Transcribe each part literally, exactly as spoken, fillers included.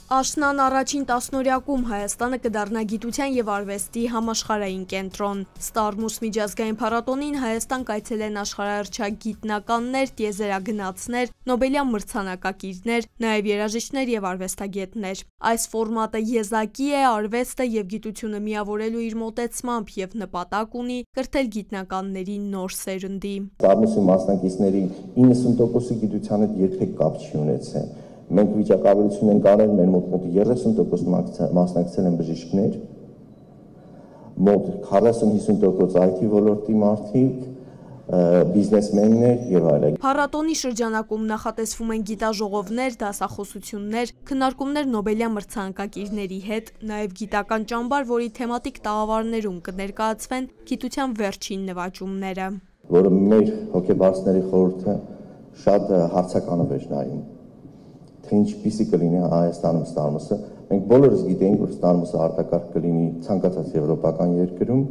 Աշնան առաջին տասնօրյակում Հայաստանը կդառնա գիտության և արվեստի համաշխարհային կենտրոն։ Ստարմուս միջազգային փառատոնին Հայաստան կայցելեն աշխարհահռչակ գիտնականներ, տիեզերագնացներ, Նոբելյան մրցանակակիրներ, նաև երաժիշտներ և արվեստագետներ։ Այս ֆորմատը եզակի է արվեստը և գիտությունը միավորելու իր մոտեցմամբ և նպատակ ունի կրթել գիտնականների նոր սերնդի։ Ստարմուսի մասնակիցների իննսուն տոկոսի գիտության հետ երբեք կապ չի ունեցել։ Մենք վիճակագրություն ենք արել, մեր մոտ մոտ երեսուն տոկոս մասնակցել են բժիշկներ, մոտ քառասուն-հիսուն տոկոս այ թի ոլորտի մարդիկ, բիզնեսմեններ եւ այլն։ Փառատոնի շրջանակում նախատեսվում են գիտաժողովներ, դասախոսություններ, քննարկումներ Նոբելյան մրցանակակիրների հետ, նաև գիտական ճամբար, որի թեմատիկ տաղավարներում կներկայացվեն գիտության վերջին նվաճումները, որը մեր հոգեբարձների խորհուրդը շատ հարցականով էր նայում, թե ինչպիսի կլինի Հայաստանում Ստարմուսը։ Մենք բոլորս գիտենք, որ Ստարմուսը արտակարգ կլինի ցանկացած եվրոպական երկրում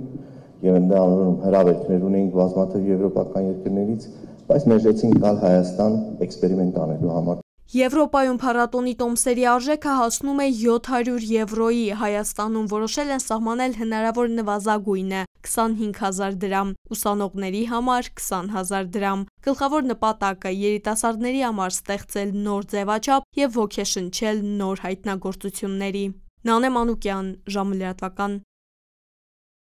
եւ ընդհանրում հրավերներ ունենք բազմաթիվ եվրոպական երկրներից, բայց մերժեցին գալ Հայաստան էքսպերիմենտ անելու համար։ Եվրոպայում փառատոնի տոմսերի արժեքը հասնում է յոթ հարյուր եվրոյի, Հայաստանում որոշել են սահմանել հնարավոր նվազագույնը՝ քսանհինգ հազար դրամ, ուսանողների համար քսան հազար դրամ։ Գլխավոր նպատակը երիտասարդների համար ստեղծել նոր ձևաչափ և ոգեշնչել նոր հայտնագործությունների։ Նանե Մանուկյան, ժամը լրատվական։